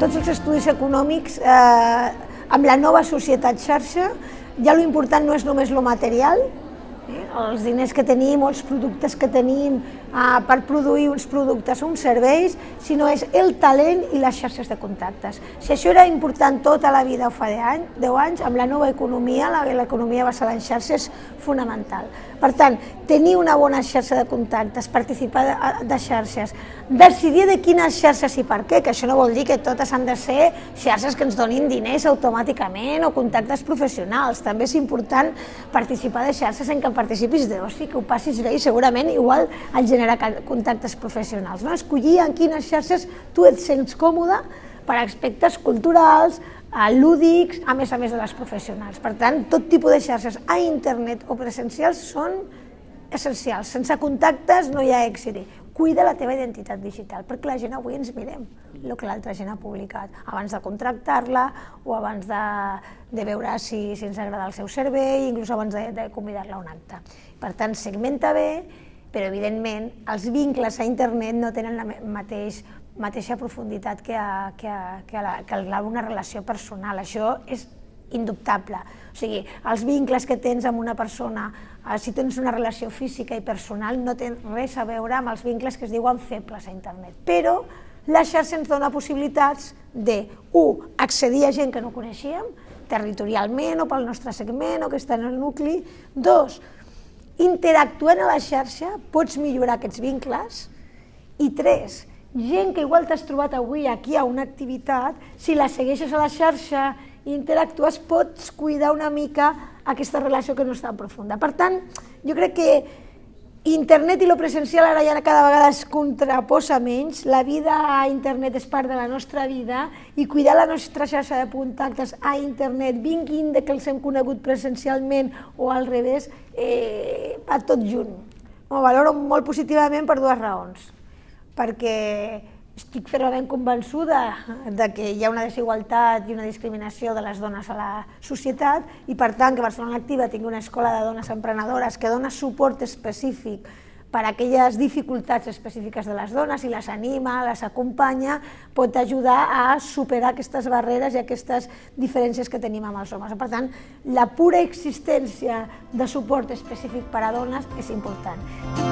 tots els estudis econòmics, amb la nova societat xarxa, ja l'important no és només lo material, els diners que tenim o els productes que tenim per produir uns productes o uns serveis, sinó és el talent i les xarxes de contactes. Si això era important tota la vida o fa 10 anys, amb la nova economia, l'economia basada en xarxes, és fonamental. Per tant, tenir una bona xarxa de contactes, participar de xarxes, decidir de quines xarxes i per què, que això no vol dir que totes han de ser xarxes que ens donin diners automàticament o contactes professionals. També és important participar de xarxes en què participis d'oci, que ho passis bé i segurament igual et genera contactes professionals. Escollir en quines xarxes tu et sents còmode per aspectes culturals, lúdics, a més de les professionals. Per tant, tot tipus de xarxes a internet o presencials són essencials. Sense contactes no hi ha èxit. Cuida la teva identitat digital, perquè la gent avui ens mirem el que l'altra gent ha publicat, abans de contractar-la o abans de veure si ens agrada el seu servei, inclús abans de convidar-la a un acte. Per tant, segmenta bé, però evidentment els vincles a internet no tenen la mateixa profunditat que una relació personal. Això és indubtable. O sigui, els vincles que tens amb una persona, si tens una relació física i personal, no tenen res a veure amb els vincles que es diuen febles a internet. Però la xarxa ens dona possibilitats de, accedir a gent que no coneixíem, territorialment o pel nostre segment o que està en el nucli. 2, interactuant a la xarxa pots millorar aquests vincles. I 3, gent que igual t'has trobat avui aquí a una activitat, si la segueixes a la xarxa i interactues, pots cuidar una mica aquesta relació que no és tan profunda. Per tant, jo crec que internet i lo presencial ara ja cada vegada es contraposa menys, la vida a internet és part de la nostra vida i cuidar la nostra xarxa de contactes a internet, vinguin de que els hem conegut presencialment o al revés, va tot junt. Ho valoro molt positivament per 2 raons. Perquè estic fermament convençuda que hi ha una desigualtat i una discriminació de les dones a la societat i per tant que Barcelona Activa tingui una escola de dones emprenedores que dona suport específic per a aquelles dificultats específiques de les dones i les anima, les acompanya, pot ajudar a superar aquestes barreres i aquestes diferències que tenim amb els homes. Per tant, la pura existència de suport específic per a dones és important.